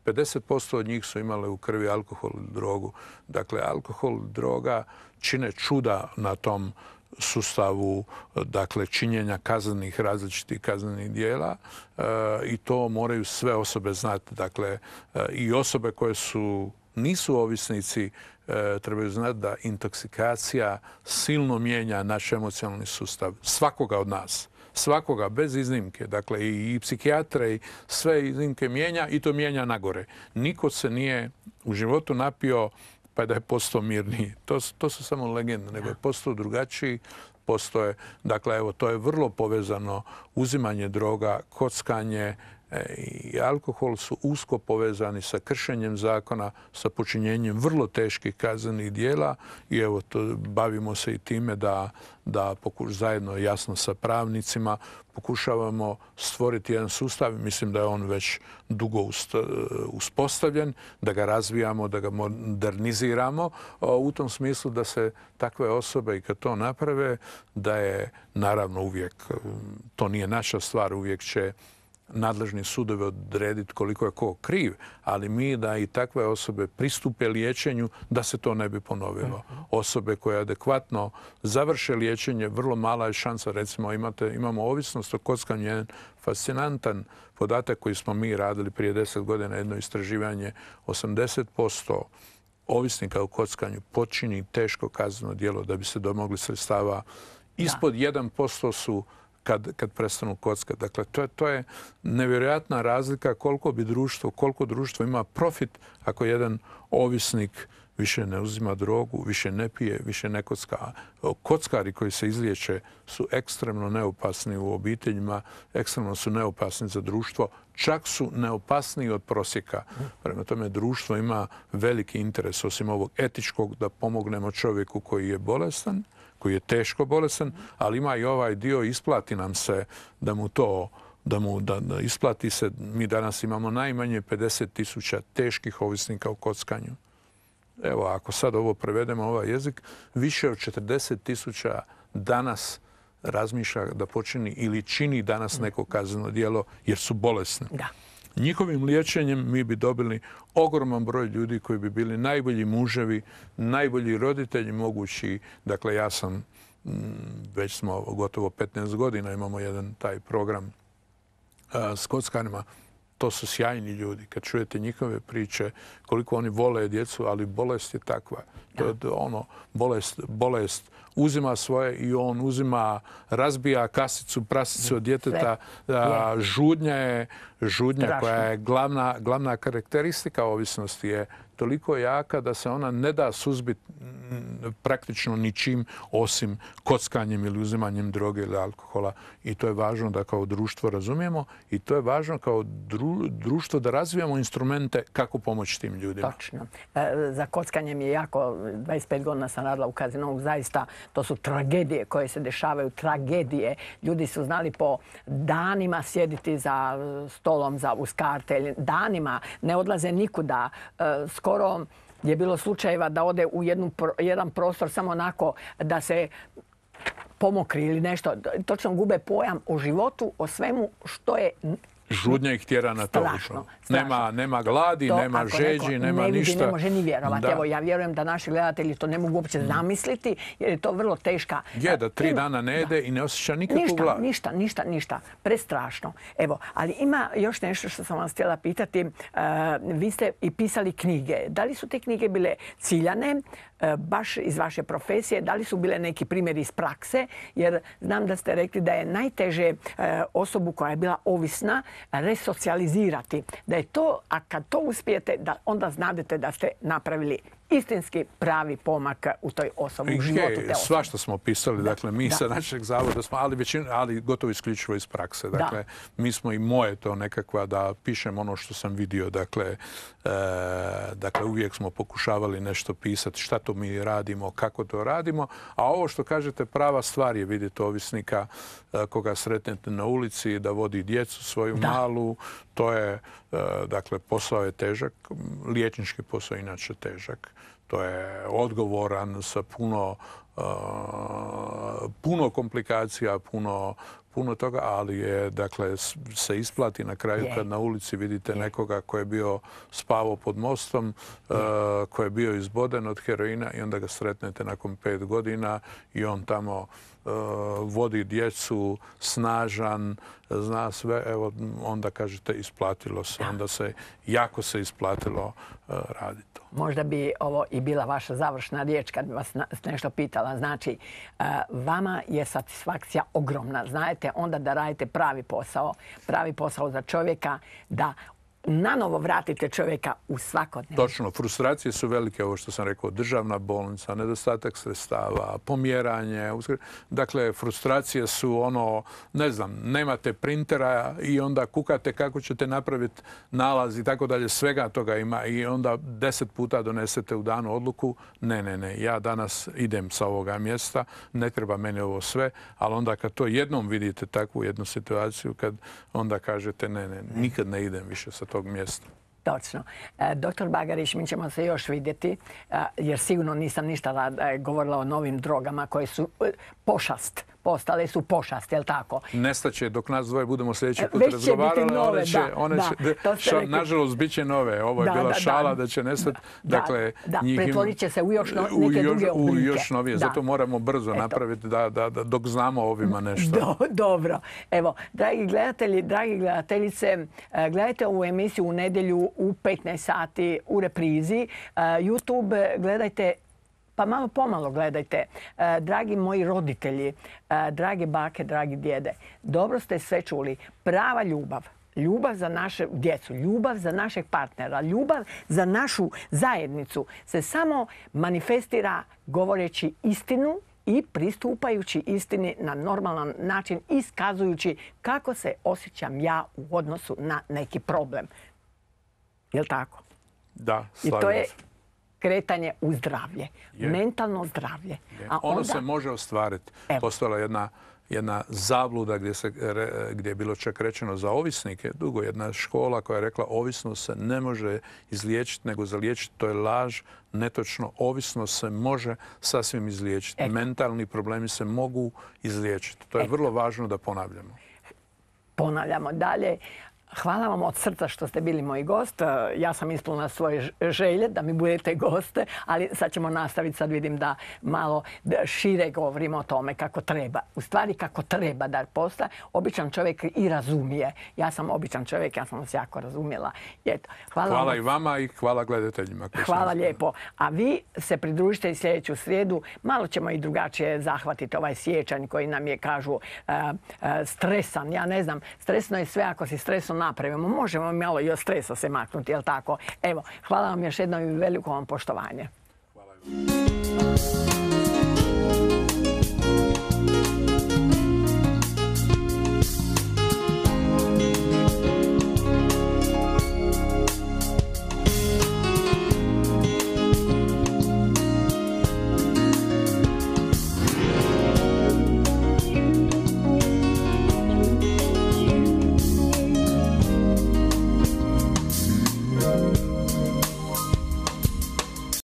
pedeset posto od njih su imale u krvi alkohol i drogu. Dakle, alkohol i droga čine čuda na tom sustavu, dakle, činjenja kaznenih, različitih kaznenih dijela e, i to moraju sve osobe znati. Dakle, e, i osobe koje su, nisu ovisnici e, trebaju znati da intoksikacija silno mijenja naš emocionalni sustav svakoga od nas. Svakoga, bez iznimke. Dakle, i, i psihijatre i sve iznimke mijenja i to mijenja nagore. Niko se nije u životu napio pa da je postao mirniji. To, to su samo legende, nego je postao drugačiji, postoje, dakle, evo, to je vrlo povezano, uzimanje droga, kockanje e, i alkohol su usko povezani sa kršenjem zakona, sa počinjenjem vrlo teških kaznenih dijela i evo, to, bavimo se i time da, da pokuš, zajedno jasno sa pravnicima pokušavamo stvoriti jedan sustav, mislim da je on već dugo uspostavljen, da ga razvijamo, da ga moderniziramo u tom smislu da se takve osobe i kad to naprave, da je naravno uvijek, to nije naša stvar, uvijek će nadležni sudovi odrediti koliko je ko kriv, ali mi da i takve osobe pristupe liječenju da se to ne bi ponovilo. Osobe koje adekvatno završe liječenje, vrlo mala je šansa. Recimo, imate, imamo ovisnost o kockanju, jedan fascinantan podatak koji smo mi radili prije deset godina, jedno istraživanje, osamdeset posto ovisnika o kockanju počini teško kazneno djelo da bi se domogli sredstava. Ispod jedan posto su Kad, kad prestanu kockati. Dakle, to je, to je nevjerojatna razlika koliko bi društvo, koliko društvo ima profit ako jedan ovisnik više ne uzima drogu, više ne pije, više ne kocka. Kockari koji se izliječe su ekstremno neopasni u obiteljima, ekstremno su neopasni za društvo, čak su neopasniji od prosjeka. Prema tome, društvo ima veliki interes, osim ovog etičkog, da pomognemo čovjeku koji je bolestan, koji je teško bolestan, ali ima i ovaj dio, isplati nam se da mu to, da mu da, da isplati se. Mi danas imamo najmanje pedeset tisuća teških ovisnika o kockanju. Evo, ako sad ovo prevedemo ovaj jezik, više od četrdeset tisuća danas razmišlja da počini ili čini danas neko kazneno djelo jer su bolesni. Da. Njihovim liječenjem mi bi dobili ogroman broj ljudi koji bi bili najbolji muževi, najbolji roditelji mogući. Dakle, ja sam, već smo gotovo petnaest godina imamo jedan taj program a, s kockarima. To su sjajni ljudi. Kad čujete njihove priče, koliko oni vole djecu, ali bolest je takva. To je ono, bolest, bolest uzima svoje i on uzima, razbija kasicu, prasicu od djeteta. A, žudnja je, žudnja koja je glavna, glavna karakteristika ovisnosti je toliko jaka da se ona ne da suzbiti praktično ničim osim kockanjem ili uzimanjem droge ili alkohola. I to je važno da kao društvo razumijemo i to je važno kao dru, društvo da razvijamo instrumente kako pomoći tim ljudima. Točno. E, za kockanje mi je jako, dvadeset pet godina sam radila u kazinovu, zaista to su tragedije koje se dešavaju, tragedije. Ljudi su znali po danima sjediti za stolom, za uz karte, danima ne odlaze nikuda. E, skoro je bilo slučajeva da ode u jednu, jedan prostor samo onako da se pomokri ili nešto. Točno gube pojam o životu, o svemu što je žudnja ih tjera na to. Strašno, nema, nema gladi, to, nema žeđi, nema ne vidi, ništa. Ne može ni vjerovati. Evo, ja vjerujem da naši gledatelji to ne mogu uopće mm. zamisliti jer je to vrlo teška. Je da tri ima, dana ne jede da. I ne osjeća nikakvu ništa, glad. Ništa, ništa, ništa. Prestrašno. Evo, ali ima još nešto što sam vas htjela pitati. Uh, vi ste i pisali knjige. Da li su te knjige bile ciljane, uh, baš iz vaše profesije? Da li su bile neki primjeri iz prakse? Jer znam da ste rekli da je najteže uh, osobu koja je bila ovisna resocijalizirati. Da je to, a kad to uspijete, da onda znadete da ste napravili istinski pravi pomak u toj osobi, u životu te osobe. Svašta smo pisali, dakle, mi sa našeg zavoda smo, ali većina, ali gotovo isključivo iz prakse. Dakle, mi smo i moje to nekakva da pišem ono što sam vidio, dakle, dakle, uvijek smo pokušavali nešto pisati, šta to mi radimo, kako to radimo, a ovo što kažete, prava stvar je vidjeti ovisnika koga sretnete na ulici, da vodi djecu svoju malu, to je, dakle, posao je težak, liječnički posao inače težak, to je odgovoran sa puno, puno komplikacija, puno puno toga, ali je, dakle, se isplati na kraju kad na ulici vidite nekoga koji je bio spavao pod mostom, koji je bio izboden od heroina i onda ga sretnete nakon pet godina i on tamo vodi djecu, snažan, zna sve, evo, onda kažete isplatilo se, onda se, jako se isplatilo raditi to. Možda bi ovo i bila vaša završna riječ kad bi vas nešto pitala. Znači, vama je satisfakcija ogromna. Znajte onda da radite pravi posao, pravi posao za čovjeka, da nanovo vratite čovjeka u svakodnevno. Točno, frustracije su velike, ovo što sam rekao, državna bolnica, nedostatak sredstava, pomjeranje. Dakle, frustracije su ono, ne znam, nemate printera i onda kukate kako ćete napraviti nalaz i tako dalje, svega toga ima i onda deset puta donesete u danu odluku, ne, ne, ne, ja danas idem sa ovoga mjesta, ne treba meni ovo sve, ali onda kad to jednom vidite takvu jednu situaciju, kad onda kažete ne, ne, nikad ne idem više sa tog mjesta. Točno. Doktor Bagarić, mi ćemo se još vidjeti, jer sigurno nisam ništa govorila o novim drogama koje su pošast. Postale su pošast, je li tako? Nestaće dok nas dvoje budemo sljedeći put razgovarali. One će, one će, nažalost, bit će nove. Ovo je bila šala da će nestati. Dakle, da, pretvorit će se u još neke druge oblike. U još novije. Zato moramo brzo napraviti dok znamo ovima nešto. Dobro. Evo, dragi gledatelji, dragi gledateljice, gledajte ovu emisiju u nedjelju u petnaest sati u reprizi. YouTube gledajte, pa malo pomalo gledajte. Dragi moji roditelji, drage bake, dragi djede, dobro ste sve čuli. Prava ljubav, ljubav za našu djecu, ljubav za našeg partnera, ljubav za našu zajednicu se samo manifestira govoreći istinu i pristupajući istini na normalan način, iskazujući kako se osjećam ja u odnosu na neki problem. Je li tako? Da, slavim. I to je kretanje u zdravlje, mentalno zdravlje. A ono onda se može ostvariti. Postala jedna, jedna zabluda gdje, se, gdje je bilo čak rečeno za ovisnike. Dugo jedna škola koja je rekla ovisnost se ne može izliječiti nego zaliječiti. To je laž, netočno. Ovisnost se može sasvim izliječiti. Eto. Mentalni problemi se mogu izliječiti. To je Eto. vrlo važno da ponavljamo. Ponavljamo dalje. Hvala vam od srca što ste bili moj gost. Ja sam ispunila svoje želje da mi budete goste, ali sad ćemo nastaviti. Sad vidim da malo šire govorimo o tome kako treba. U stvari kako treba da postaje. Običan čovjek i razumije. Ja sam običan čovjek, ja sam vas jako razumjela. Eto, hvala hvala vam. i vama i hvala gledateljima. Hvala lijepo. A vi se pridružite i sljedeću srijedu. Malo ćemo i drugačije zahvatiti ovaj siječanj koji nam je, kažu, uh, uh, stresan. Ja ne znam, stresno je sve ako si stresno napravimo. Možemo malo i od stresa se maknuti, jel tako? Evo, hvala vam još jednom i veliko vam poštovanje. Hvala.